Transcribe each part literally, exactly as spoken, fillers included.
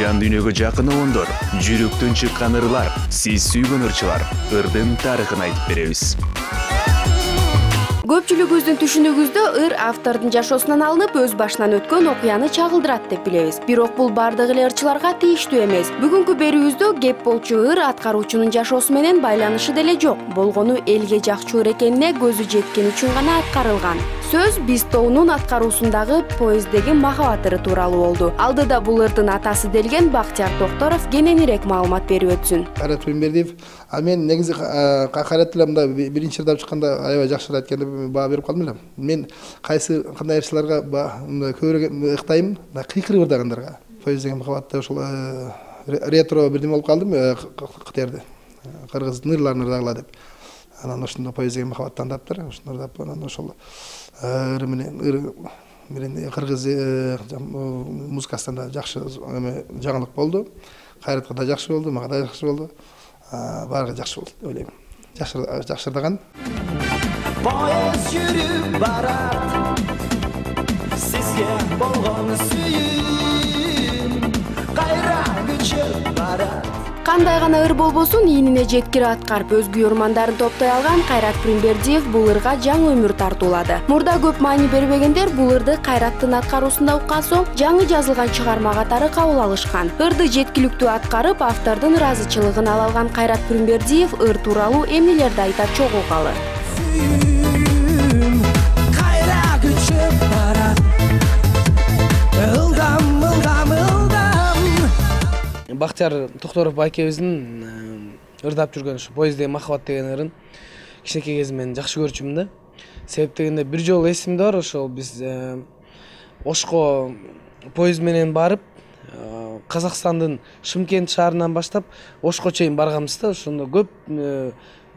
жан дүйнөгө жакын обондор, жүрөктөн чыккан ырлар, сиз сүйгөн ырчылар, ырдын тарыхын айтып беребиз. Көпчүлүгүбүздүн түшүнүгүздө ыр автордун жашоосунан алынып, өз башынан өткөн окуяны чагылдырат деп билебиз. Бирок бул бардык эле ырчыларга тийиштүү эмес. Бүгүнкү берүүбүздө кеп болчу ыр аткаруучунун жашоосу менен байланышы деле жок. Болгону элге жакчу ыр экенине көзү жеткен үчүн гана аткарылган. Сөз биз тоонун аткаруусундагы поезддеги махабат ыры тууралуу болду. Алдыда бул ырдын атасы делген Бактияр Токторов кененирээк маалымат берип өтсүн. Кайрат Примбердиев, а мен негизи Кайрат эле мында биринчи ырдап чыкканда аябай жакшы айткан деп баа берип калдым эле. Мен кайсы кандай ырчыларга көбүрөөк ыктайм, кыйкырып ырдагандарга. Поезд деген махабатта ошол ретро бирдеме болуп калдым, кытерди. Кыргыздын ырларын ырдагыла деп. Анан ошондо поезд деген махабаттан таптыр, ошондо ырдап анан ошол ыры менен ыр менен кыргыз музыкасынан да жакшы жаңылык болду. Кайратка да жакшы болду, мага да жакшы болду. Баарыга жакшы болду деп ойлойм. Жакшы жакшы ырдаган. Поезд жүрүп барат, сизге болгон сүйүм, кайра көчүп барат. Кандай гана ыр болбосун, ийнине жеткире аткарып өзгө ормандарын топтой алган Кайрат Примбердиев бул ырга жаңы өмүр тартуулады. Мурда көп маани бербегендер бул ырды Кайраттын аткаруусунда уккан соң жаңы жазылган чыгарма катары кабыл алышкан. Ырды жеткиликтүү аткарып, автордун ыраазычылыгын ала алган Кайрат Примбердиев ыр тууралуу эмнелерди айтат чогуу калы. Бактияр Токторов байкебиздин ырдап жүргөн ушу поезддеги махабат деген ырын кичинекей кезимден жакшы көрчүмүн да. Себеп дегенде бир жолу эсимде бар, ошол биз Ошко поезд менен барып, Казакстандын Шымкент шаарынан баштап Ошко чейин барганбыз да. Ошондо көп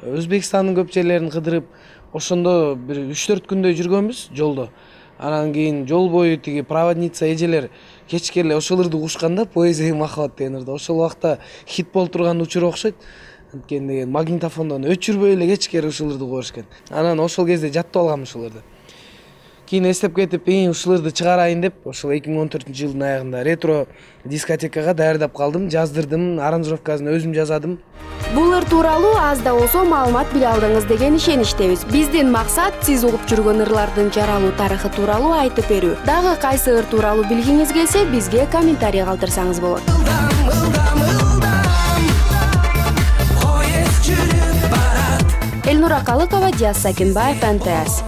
Өзбекстандын көп жерлерин кыдырып, ошондо бир үч төрт күндөй жүргөнбүз жолдо. Анан кийин жол бою тиги проводница эжелер кечке эле ошол ырды угушканда поезддеги махабат деген ырды ошол убакта хит болуп турган учур окшойт. Анткени магнитофондон өчүрбөй эле кечке ушул ырды уга беришкен. Анан ошол кезде жаттап алгам ушул ырды. Кийин эстеп кетип, эң ушул ырды чыгарайын деп, ошол эки миң он төртүнчү жылдын аягында ретро дискотекага даярдап калдым, жаздырдым, аранжировкасын өзүм жазадым. Бул ыр тууралуу аз да болсо маалымат биле алдыңыз деген ишеничтебиз. Биздин максат сиз угуп жүргөн ырлардын жаралуу тарыхы тууралуу айтып берүү. Дагы кайсы ыр тууралуу билгиңиз келсе, бизге комментарий калтырсаңыз болот. Элнура Калыкова, Диас Сакинбаев, эн тэ эс.